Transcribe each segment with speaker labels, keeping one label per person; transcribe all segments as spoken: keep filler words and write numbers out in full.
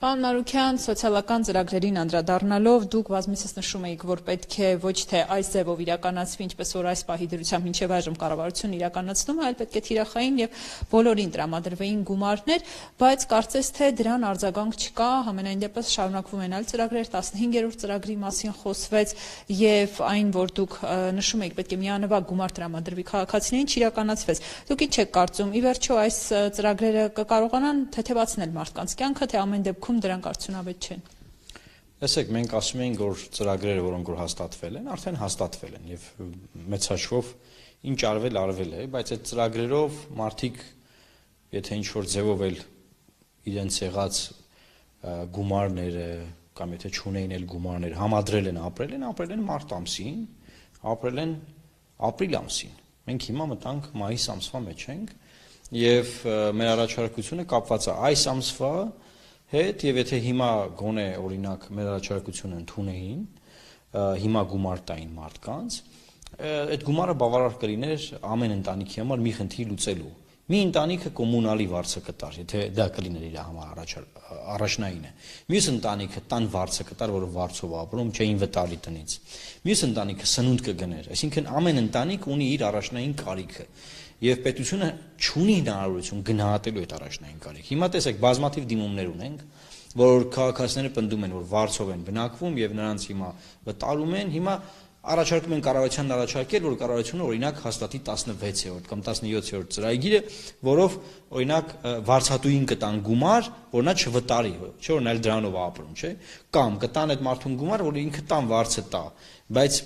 Speaker 1: Պարոն Մարուքյան, սոցիալական ծրագրերին անդրադառնալով դուք բազմիցս նշում էիք, որ պետք է ոչ թե այս ձևով իրականացվի, ինչպես որ այս պահի դրությամբ մինչև այժմ կառավարությունն իրականացնում է, այլ պետք է թիրախային եւ բոլորին տրամադրվեին գումարներ, բայց կարծես թե դրան արձագանք չկա, համենայն դեպս շարունակվում են այլ ծրագրեր, տասնհինգերորդ ծրագրի մասին խոսվեց եւ այն, որ դուք նշում եք, պետք է միանվագ գումար տրամադրվի քաղաքացիներին, չիրականացվեց։ Դուք ինչ եք կարծում, ի վերջո այս ծրագրերը կկարողանան թեթևացնել մարդկանց կյանքը, թե ամեն դեպքում դրանք արդյունավետ չեն։
Speaker 2: Տեսեք, մենք ասում ենք, որ ծրագրերը, որոնք որ հաստատվել են, արդեն հաստատվել են եւ մեծ հաշվով ինչ արվել արվել է, բայց այդ ծրագրերով մարդիկ, եթե ինչ որ ձևով էլ իրենց եղած գումարները կամ եթե չունեին էլ գումարներ, համադրել են, ապրել են, ապրել են մարտ ամսին, ապրել են ապրիլ ամսին։ Մենք հիմա մտանք մայիս ամսվա մեջ ենք եւ մեր առաջարկությունը կապված է այս ամսվա հետ եւ եթե հիմա գոնե օրինակ մեր առաջարկությունը ընդունեին, հիմա գումար տային մարդկանց, այդ գումարը բավարար կլիներ ամեն ընտանիքի համար մի խնդիր լուծելու։ Մի ընտանիքը կոմունալի վարձը կտար, եթե դա կլիներ իր համար առաջնայինը։ Մյուս ընտանիքը տան վարձը կտար, որը վարձով ապրում, չէին վտալի տնից։ Մյուս ընտանիքը սնունդ կգներ, այսինքն ամեն ընտանիք ունի իր առաջնային կարիքը։ Եվ պետությունը չունի հնարավորություն գնահատելու այդ առաջնային կարիքը։ Հիմա տեսեք, բազմաթիվ դիմումներ ունենք, որ քաղաքացիները պնդում են, որ վարձով են բնակվում եւ նրանց հիմա վտարում են, հիմա առաջարկում են կառավարությանն առաջարկել, որ կառավարությունը օրինակ հաստատի տասնվեցերորդ կամ տասնյոթերորդ ծրագիրը, որով օրինակ վարձատուին կտան գումար, որ նա չվտարի, չէ՞ որ նա էլ դրանով ապրում, չէ՞, կամ կտան այդ մարդուն գումար, որ ինքը տան վարձը տա, բայց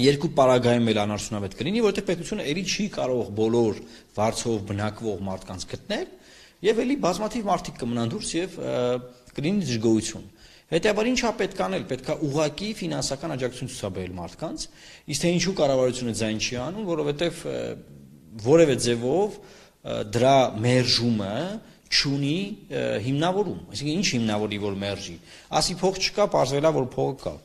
Speaker 2: երկու պարագայում էլ անարդյունավետ կլինի, որովհետև պետությունը ելի չի կարող բոլոր վարձով բնակվող մարդկանց գտնել, եւ ելի բազմաթիվ մարդիկ կմնան դուրս եւ կլինի դժգոհություն։ Հետևաբար ինչա պետք անել, պետքա ուղղակի ֆինանսական աջակցություն ցուցաբերել մարդկանց, իսկ թե ինչու կառավարությունը ձայն չի անում, որովհետև որևէ ձևով դրա մերժումը չունի հիմնավորում, այսինքն ինչ հիմնավորի, որ մերժի, ասի փող չկա, պարզվելա, որ փողը կա,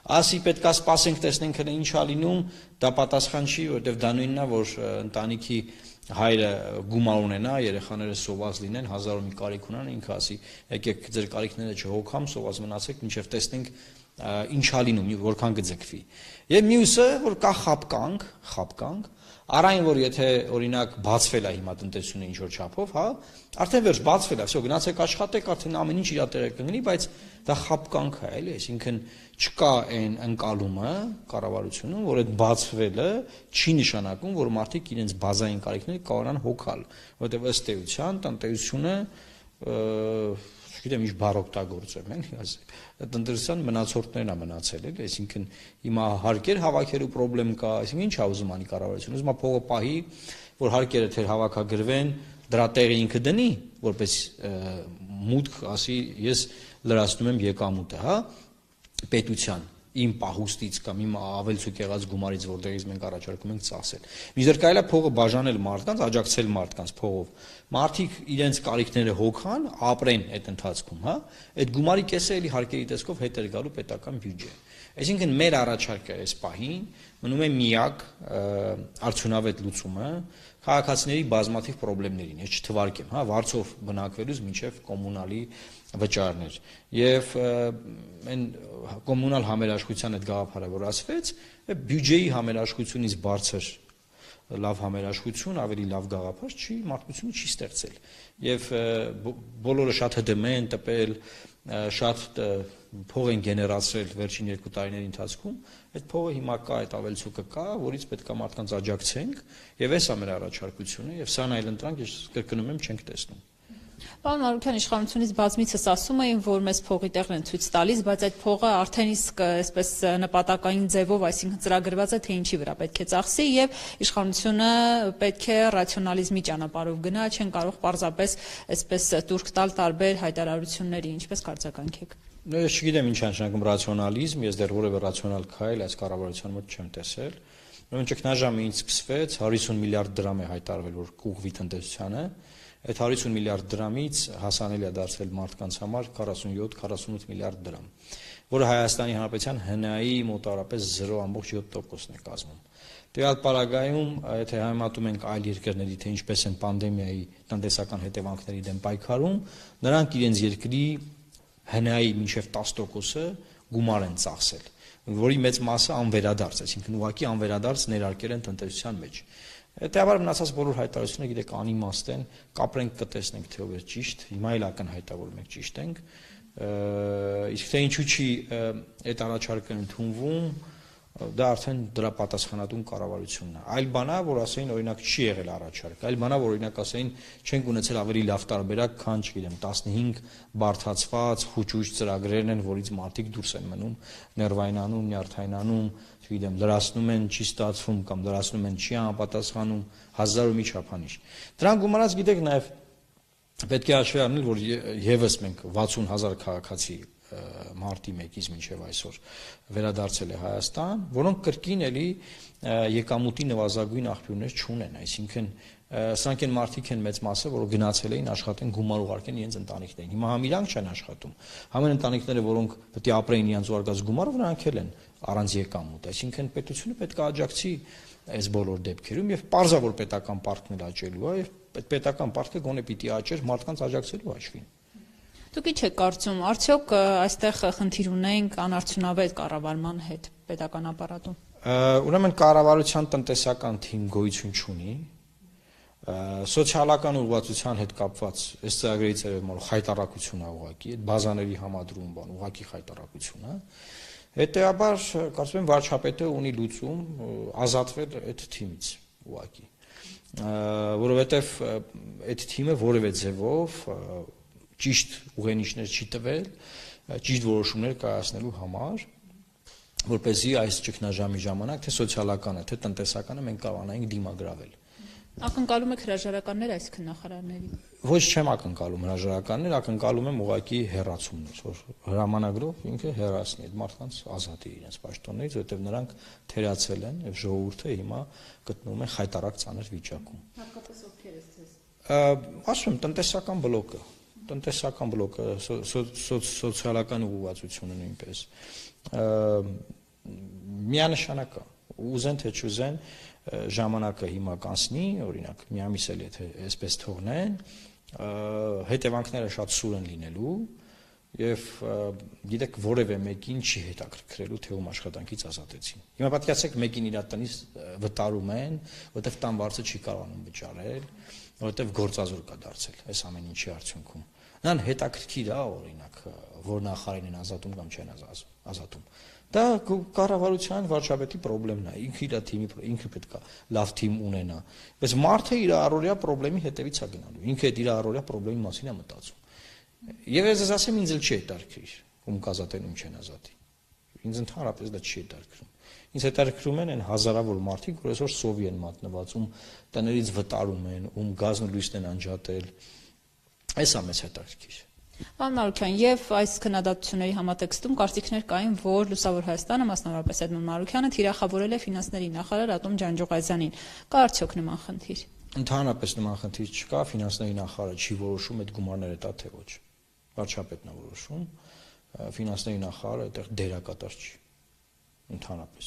Speaker 2: ասի պետքա սպասենք, տեսնենք հենց ինչա լինում, դա պատասխան չի, որովհետև դա նույնն է, որ ընտանիքի հայրը գումար ունենա, երեխաները սոված լինեն, հազար ու մի կարիք ունեն, ինքը ասի, եկեք ձեր կարիքները չհոգամ, սոված մնացեք, մինչև տեսնենք ինչա լինում, որքան կձգվի։ Եվ մյուսը, որ կա խապկանք, խապկանք, առայն որ եթե օրինակ բացվել է հիմա տնտեսությունը ինչ որ չափով, հա, արդեն վերջ բացվել է, всё, գնացեք աշխատեք, արդեն ամեն ինչ իր տեղը կգնի, բայց դա խապկանք է, էլի, այսինքն չկա այն ընկալումը կառավարությունում, որ այդ բացվելը չի նշանակում, որ մարդիկ իրենց բազային կարիքները կարողանան հոգալ, որովհետև ըստ էության տնտեսությունը չգիտեմ ինչ բառ օգտագործեմ, էլի, տնտեսության մնացորդներն է մնացել, էլի, այսինքն հիմա հարկեր հավաքելու խնդրեմ կա, այսինքն ինչ է ուզում անի կառավարությունը, ուզում է փողը պահի, որ հարկերը թեր հավաքագրվեն, դրա տեղը ինքը դնի, որպես մուտք, ասի, ես լրացնում եմ եկամուտը, հա, պետության իմ պահուստից կամ իմ ավելցուկ եղած գումարից, որտեղից մենք առաջարկում ենք ծախսել։ Մինչդեռ կարելի է փողը բաժանել մարդկանց, աջակցել մարդկանց փողով։ Մարդիկ իրենց կարիքները հոգան, ապրեն այդ ընթացքում, հա։ Այդ գումարի կեսը էլի հարկերի տեսքով հետ էր գալու պետական բյուջե։ Այսինքն մեր առաջարկը այս պահին մնում է միակ արդյունավետ լուծումը քաղաքացիների բազմաթիվ խնդիրներին, ես չթվարկեմ, հա, վարձով բնակվելուց մինչև կոմունալի վճարներ եւ այն կոմունալ համերաշխության այդ գաղափարը որ ասվեց, բյուջեի համերաշխությունից բարձր լավ համերաշխություն, ավելի լավ գաղափար չի, մարդկությունը չի ստեղծել եւ բոլորը շատ հդմ են տպել, շատ փող են գեներացրել վերջին երկու տարիների ընթացքում, այդ փողը հիմա կա, այդ ավելցուկը կա, որից պետք է մարդկանց աջակցենք եւ էս է մեր առաջարկությունը եւ սան այլ ընտրանք ես կրկնում եմ չենք տեսնում։
Speaker 1: Պարոն Մարուքյան, իշխանությունից բազմիցս ասում էին, որ մեզ փողի տեղն են ցույց տալիս, բայց այդ փողը արդեն իսկ այսպես նպատակային ձևով, այսինքն ծրագրված է, թե ինչի վրա պետք է ծախսի եւ իշխանությունը պետք է ռացիոնալիզմի ճանապարհով գնա, չեն կարող պարզապես այսպես տուրք տալ տարբեր հայտարարությունների, ինչպես կարձականքեք։
Speaker 2: Ես չգիտեմ ինչ է նշանակում ռացիոնալիզմ, ես դեռ որևէ ռացիոնալ քայլ այս կառավարության մոտ չեմ տեսել։ Ուրեմն ճգնաժամը ինձ սկսվեց, հարյուր միլիարդ դրամ է հայտարարվել, որ կուղղվի տնտեսությանը։ Այդ հարյուր միլիարդ դրամից հասանելի է դարձել մարդկանց համար քառասունյոթ քառասունութ միլիարդ դրամ, որը Հայաստանի Հանրապետության հնայի մոտավորապես զրո ամբողջ յոթ տոկոսն է կազմում։ Տվյալ պարագայում, եթե համեմատում ենք այլ երկրների, թե ինչպես են պանդեմիայի տնտեսական հետևանքների դեմ պայքարում, նրանք իրենց երկրի հնայի մինչև տասը տոկոսը գումար են ծախսել, որի մեծ մասը անվերադարձ, այսինքն ուղղակի անվերադարձ ներարկել են տնտեսության մեջ։ Հետևաբար մնացած բոլոր հայտարարությունները գիտեք անիմաստ են, կապրենք կտեսնենք թե ով է ճիշտ, հիմա էլ ակնհայտավորում ենք ճիշտ ենք, իսկ թե ինչու չի այդ առաջարկը ընդունվում, դա արդեն դրա պատասխանատուն կառավարությունն է։ Այլ բանա, որ ասեին օրինակ չի եղել առաջարկ, այլ բանա, որ օրինակ ասեին չենք ունեցել ավելի լավ տարբերակ, քան չգիտեմ տասնհինգ բարդացված խուճուճ ծրագրերն են, որից մարդիկ դուրս են մնում, ներվայնանում, նյարդայնանում, չգիտեմ լրացնում են, չի ստացվում կամ լրացնում են չի անպատասխանում, հազար ու մի չափանիշ։ Դրան գումարած գիտեք նաև պետք է հաշվի առնել, որ եւս մենք վաթսուն հազար քաղաքացի մարտի մեկից մինչև այսօր վերադարձել է Հայաստան, որոնք կրկին էլի եկամուտի նվազագույն աղբյուրներ չունեն, այսինքն սրանք են մարդիկ են մեծ մասը, որոնք գնացել էին աշխատեն գումար ուղարկեն իրենց ընտանիքներին։ Հիմա համ իրանք չեն աշխատում։ Համեն ընտանիքները, որոնք պետք է ապրեին իրենց ուղարկած գումարով, նրանք էլ են առանց եկամուտ, այսինքն պետությունը պետք է աջակցի այս բոլոր դեպքերում եւ պարզա որ պետական պարտքն էլ աճելու է եւ այդ պետական պարտքը գոնե պիտի աճեր մարդկանց աջակցելու հաշվին։
Speaker 1: Դուք ինչ եք կարծում, արդյոք այստեղ խնդիր ունենք անարդյունավետ կառավարման հետ պետական ապարատում։
Speaker 2: Ուրեմն կառավարության տնտեսական թիմ գոյություն չունի, սոցիալական ուղղվածության հետ կապված այս ծրագրերից երևում խայտարակություն է ուղղակի, այդ բազաների համադրում բան ուղղակի խայտարակություն է։ Հետևաբար կարծում եմ վարչապետը ունի լուծում ազատվել այդ թիմից ուղղակի, որովհետև այդ թիմը որևէ ձևով ճիշտ ուղենիշներ չի տվել, ճիշտ որոշումներ կայացնելու համար, որպեսզի այս ճգնաժամի ժամանակ թե սոցիալականը, թե տնտեսականը մենք կարողանայինք դիմագրավել։
Speaker 1: Ակնկալում եք հրաժարականներ այս քննախարարների։
Speaker 2: Ոչ չեմ ակնկալում հրաժարականներ, ակնկալում եմ ուղղակի հեռացումներ, որ հրամանագրով ինքը հեռացնի այդ մարդկանց ազատի իրենց պաշտոններից, որովհետև նրանք թերացել են եւ ժողովուրդը հիմա գտնվում է խայտարակ ծանր վիճակում։
Speaker 1: Հատկապես ովքեր է ձեզ։
Speaker 2: Ասում եմ տնտեսական բլոկը, տնտեսական բլոկը, սոցիալական ուղղվածությունը նույնպես միանշանակ է, ուզեն թե չուզեն ժամանակը հիմա կանցնի, օրինակ մի ամիս էլ եթե այսպես թողնեն, հետևանքները շատ սուր են լինելու եւ գիտեք որևէ մեկին չի հետաքրքրելու թե ում աշխատանքից ազատեցին։ Հիմա պատկերացրեք մեկին իր տնից վտարում են, որովհետեւ տան վարձը չի կարողանում վճարել, որովհետեւ գործազոր կա դարձել այս ամեն ինչի արդյունքում։ Նրան հետաքրքիր է օրինակ որ նախարարին են ազատում կամ չեն ազատում։ Դա կառավարության վարչապետի խնդիրն է, ինքը իր թիմի ինքը պետք է լավ թիմ ունենա։ Բայց մարդը իր առօրյա խնդրի հետևից է գնալու, ինքը այդ իր առօրյա խնդրի մասին է մտածում։ Եվ ես ասեմ ինձ էլ չի հետաքրքիր, ում կազատեն, ում չեն ազատի։ Ինձ ընդհանրապես դա չի հետաքրքրում։ Ինձ հետաքրքրում են այն հազարավոր մարդիկ, որ այսօր սովի են մատնված, ում տներից վտարում են, ում գազն ու լույսն են անջատել։ Այս է մեծ հետաքրքիր։
Speaker 1: Պարոն Մարուքյան, եւ այս քննադատությունների համատեքստում կարծիքներ կային, որ Լուսավոր Հայաստանը, մասնավորապես Էդմոն Մարուքյանը թիրախավորել է ֆինանսների նախարար Ատոմ Ջանջուղազյանին։ Կա արդյոք նման խնդիր։
Speaker 2: Ընդհանրապես նման խնդիր չկա, ֆինանսների նախարարը չի որոշում այդ գումարները տա թե ոչ։ Վարչապետն է որոշում, ֆինանսների նախարարը այդտեղ դերակատար չի։ Ընդհանրապես